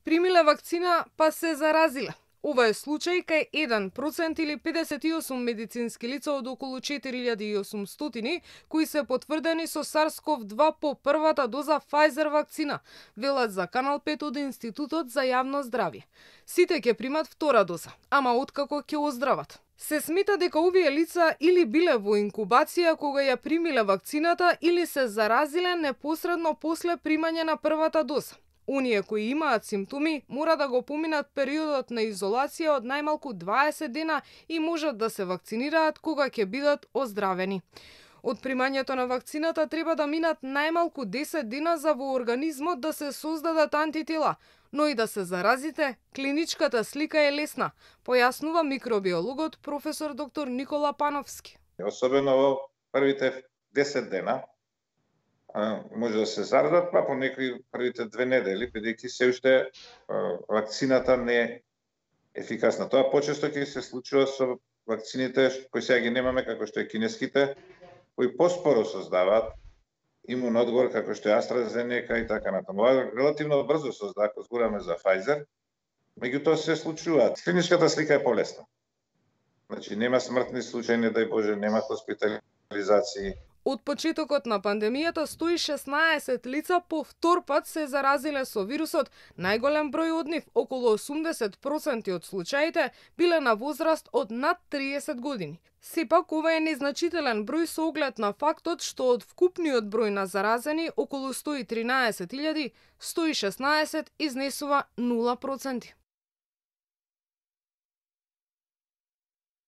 примиле вакцина па се заразиле. Ова е случај кај 1% или 58 медицински лица од околу 4800 кои се потврдени со SARS-CoV-2 по првата доза Pfizer вакцина, велат за Канал 5 од Институтот за јавно здравје. Сите ќе примат втора доза, ама откако ќе оздрават. Се смета дека овие лица или биле во инкубација кога ја примиле вакцината или се заразиле непосредно после примање на првата доза. Оние кои имаат симптоми мора да го поминат периодот на изолација од најмалку 20 дена и можат да се вакцинираат кога ќе бидат оздравени. Од примањето на вакцината треба да минат најмалку 10 дена за во организмот да се создадат антитела, но и да се заразите, клиничката слика е лесна, појаснува микробиологот професор доктор Никола Пановски. Особено во првите 10 дена може да се заразат, па по некои првите 2 недели, бидејќи се уште вакцината не е ефикасна. Тоа почесто ќе се случува со вакцините кои сега ги немаме, како што е кинеските, кои поспоро создаваат имун одговор, како што е AstraZeneca и така натаму. Ова релативно брзо создава, ако зборуваме за Pfizer, меѓутоа се случуваат. Клиничката слика е полесна. Значи нема смртни случаи, не дај Боже, нема хоспитализации. Од почетокот на пандемијата 116 лица по втор пат се заразиле со вирусот. Најголем број од нив, околу 80% од случаите, биле на возраст од над 30 години. Сепак ова е незначителен број со оглед на фактот што од вкупниот број на заразени, околу 113.000, 116 изнесува 0%.